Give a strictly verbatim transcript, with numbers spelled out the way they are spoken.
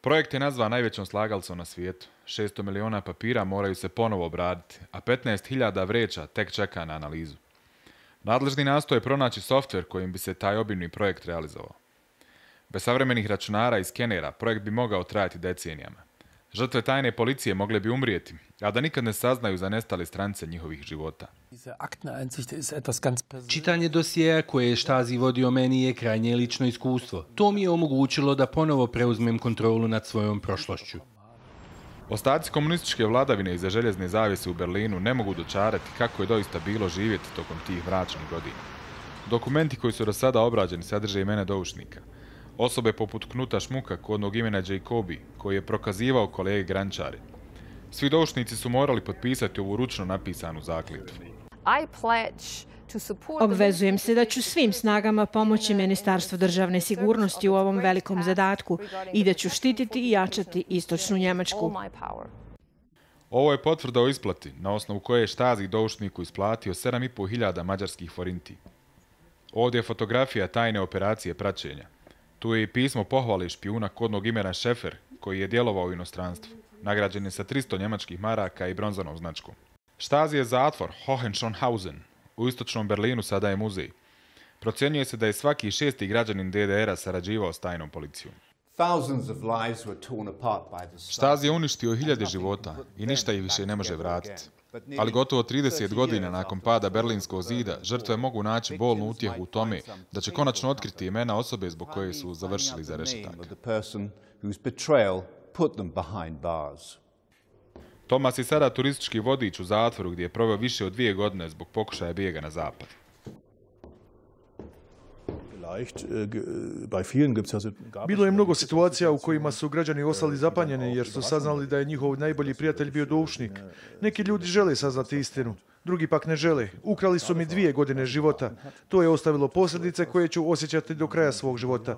Projekt je nazvan najvećom slagalicom na svijetu. šesto miliona papira moraju se ponovo obraditi, a petnaest hiljada vreća tek čeka na analizu. Nadležni nastoje pronaći softver kojim bi se taj obimni projekt realizovao. Bez savremenih računara i skenera projekt bi mogao trajati decenijama. Žrtve tajne policije mogle bi umrijeti, a da nikad ne saznaju za nestale stranice njihovih života. Čitanje dosjeja koje je Stasi vodio meni je krajnje lično iskustvo. To mi je omogućilo da ponovo preuzmem kontrolu nad svojom prošlošću. Ostaci komunističke vladavine iza željezne zavjese u Berlinu ne mogu dočarati kako je doista bilo živjeti tokom tih mračnih godina. Dokumenti koji su do sada obrađeni sadrže imena doušnika. Osobe poput Knuta Šmuka, kodnog imena Jacobi, koji je prokazivao kolege grančari. Svi doušnici su morali potpisati ovu ručno napisanu zakletvu. Obvezujem se da ću svim snagama pomoći Ministarstvu državne sigurnosti u ovom velikom zadatku i da ću štititi i jačati istočnu Njemačku. Ovo je potvrda o isplati, na osnovu koje je Stasi doušniku isplatio sedam i po hiljada mađarskih forinti. Ovdje je fotografija tajne operacije praćenja. Tu je i pismo pohvale špijuna kodnog imena Šefer, koji je djelovao u inostranstvu. Nagrađen je sa tristo njemačkih maraka i bronzanom značkom. Stasi je zatvor Hohenschönhausen. U istočnom Berlinu sada je muzej. Procjenjuje se da je svaki šesti građanin D D R-a sarađivao s tajnom policijom. Stasi je uništio hiljade života i ništa ih više ne može vratiti. Ali gotovo trideset godina nakon pada Berlinskog zida, žrtve mogu naći bolnu utjehu u tome da će konačno otkriti imena osobe zbog koje su završili za rešetaka. Thomas je sada turistički vodič u zatvoru gdje je proveo više od dvije godine zbog pokušaja bijega na zapad. Bilo je mnogo situacija u kojima su građani ostali zapanjeni jer su saznali da je njihov najbolji prijatelj bio doušnik. Neki ljudi žele saznati istinu, drugi pak ne žele. Ukrali su mi dvije godine života. To je ostavilo posljedice koje ću osjećati do kraja svog života.